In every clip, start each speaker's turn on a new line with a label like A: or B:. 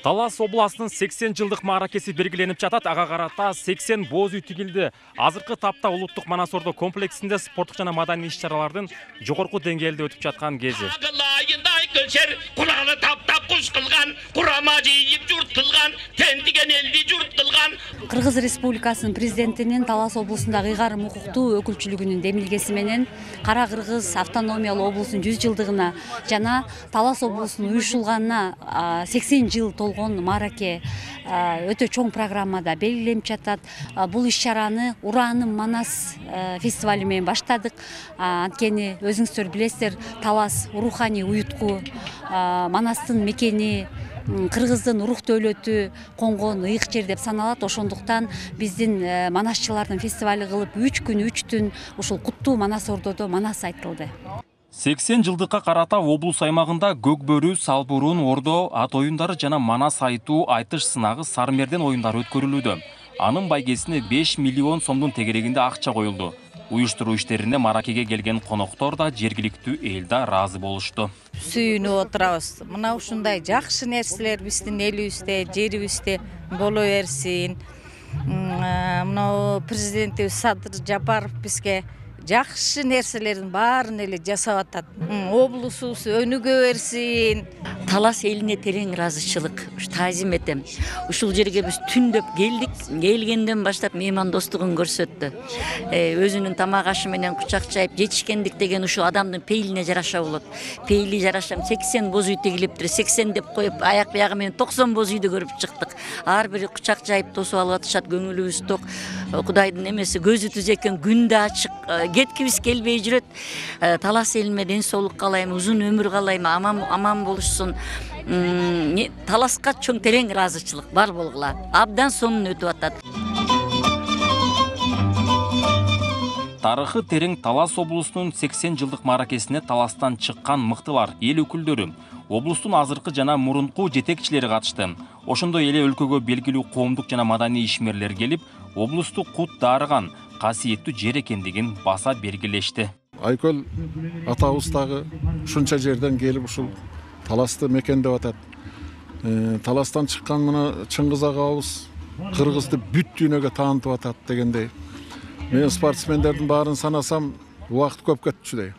A: Талас областынын 80 жылдык мааракеси белгиленип жатат. Ага карата 80 боз үй тигилди. Азыркы тапта улуттук Манас-Ордо комплексинде спорттук жана маданий иш-чаралардын жогорку деңгээлде өтүп жаткан кези.
B: Кыргыз Республикасынын президентинин Талас облусундагы ыйгарым укуктуу өкүлчүлүгүнүн демилгеси менен Кара Кыргыз автономиялуу облусунун 100 жылдыгына жана Талас облусунун уюшулганына 80 жыл толгон маараке өтө чоң программада белгиленип жатат. Бул иш-чараны Ураанын Манас фестивали менен баштадык. Анткени өзүңүздөр билесиздер, Талас руханий уютку, Манастын мекени, Кыргыздын рух дөөлөтү конгон ыйык жер деп саналат. Ошондуктан биздин манасчылардын фестивали кылып 3 күн 3 түн ушул куттуу Манас-Ордодо манас айтылды.
A: 80 жылдыкка карата облус аймагында көк бөрү, салбурун, ордо, ат оюндары жана манас айтуу, айтыш сынагы, сармерден оюндары өткөрүлүүдө. Анын байгесине 5 миллион сомдун тегерегинде акча коюлду. Уюштуруу иштерине мааракеге келген коноктор да, жергиликтүү эл да ыраазы болушту.
C: Сүйүнүп отурабыз. Мына ушундай жакшы нерселер биздин элибизде, жерибизде боло берсин. Мына президентибиз Садыр Жапаров бизге жакшы нерселердин баарын эле жасап атат. Облусубуз өнүгө берсин.
D: Талас элине терең ыраазычылык таазим этем. Ушул жерге биз түндөп келдик. Келгенден баштап меймандостугун көрсөттү. Өзүнүн тамак ашы менен кучак чайып жетишкендик деген ушул адамдын пейилине жараша болот. Пейили жарашам 80 боз үй тигилиптир. 80 деп коюп аяк биягы менен 90 боз үйдү көрүп чыктык. Ар бири кучак жайып тосуп алып атышат. Көңүлүбүз ток. Кудайдын эмеси көзү түз экен, күн да ачык. Кеткибиз келбей жүрөт. Талас элиме ден соолук каалайм, узун өмүр каалайм, аман болушсун. Таласка чоң терең ыраазычылык бар болгула. Абдан сонун өтүп атат.
A: Тарыхы терең Талас облусунун 80 жылдык мааракесине Таластан чыккан мыктылар, эл өкүлдөрү, облустун азыркы жана мурунку жетекчилери катышты. Ошондой эле өлкөгө белгилүү коомдук жана маданий ишмерлер келип, облусту кут дарыган касиеттүү жер экендигин баса белгилешти.
E: Айкөл атабыз дагы ушунча жерден келип ушул Таласты мекендеп атат. Таластан чыккан мына Чыңгыз агабыз Кыргызды бүт дүйнөгө таанытып атат дегендей. Мен спортсмендердин баарын санасам, убакыт көп кетчүдөй.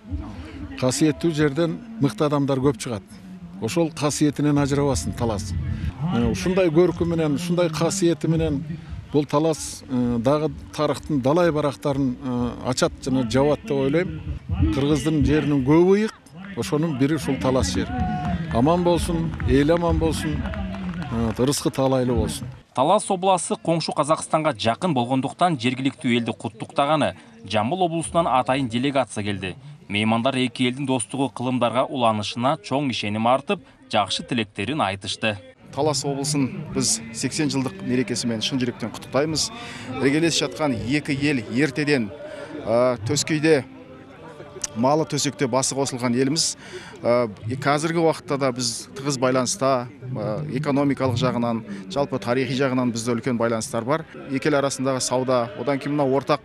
E: Касиеттүү жерден мыкты адамдар көп чыгат. Ошол касиетинен ажырабасын Талас. Ушундай көркү менен, ушундай касиети менен бул Талас дагы тарыхтын далай барактарын ачат жана жабат деп ойлойм. Кыргыздын жеринин көбү ыйык, ошонун бири ушул Талас жер. Аман болсун, эл аман болсун, ырыскы таалайлуу болсун.
A: Талас обласы коңшу Казакстанга жакын болгондуктан жергиликтүү элди куттуктаганы Жамбыл облусунан атайын делегация келди. Меймандар эки элдин достугу кылымдарга уланышына чоң ишеним артып, жакшы тилектерин айтышты.
F: Талас облысын біз 80 жылдық мерекесі менен шын жүректен құттықтаймыз. Іргелес жатқан екі ел ертеден төскейде малы төсекте басы қосылған еліміз. Қазіргі уақытта да біз тығыз байланыста, экономикалық жағынан, жалпы тарихи жағынан бізде үлкен байланыстар бар. Екі ел арасындағы сауда, одан кейін мына ортақ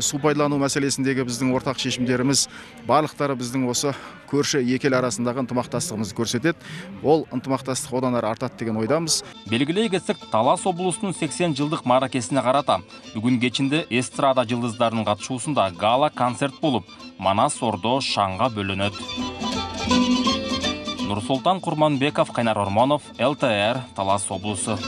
F: су пайдалану мәселесіндегі біздің ортақ шешімдеріміз, барлықтары біздің осы көрші екі ел арасындағы ынтымақтастығымызды көрсетеді. Ол ынтымақтастық одан ары артат деген ойдамыз.
A: Белгилей кетсек, Талас облусунун 80 жылдык мааракесине карата бүгүн кечинде эстрада жылдыздарынын катышуусунда гала концерт болуп, Манас-Ордо шаңга бөлөнөт. Нурсултан Курманбеков, Кайнар Ормонов, ЛТР, Талас облусу.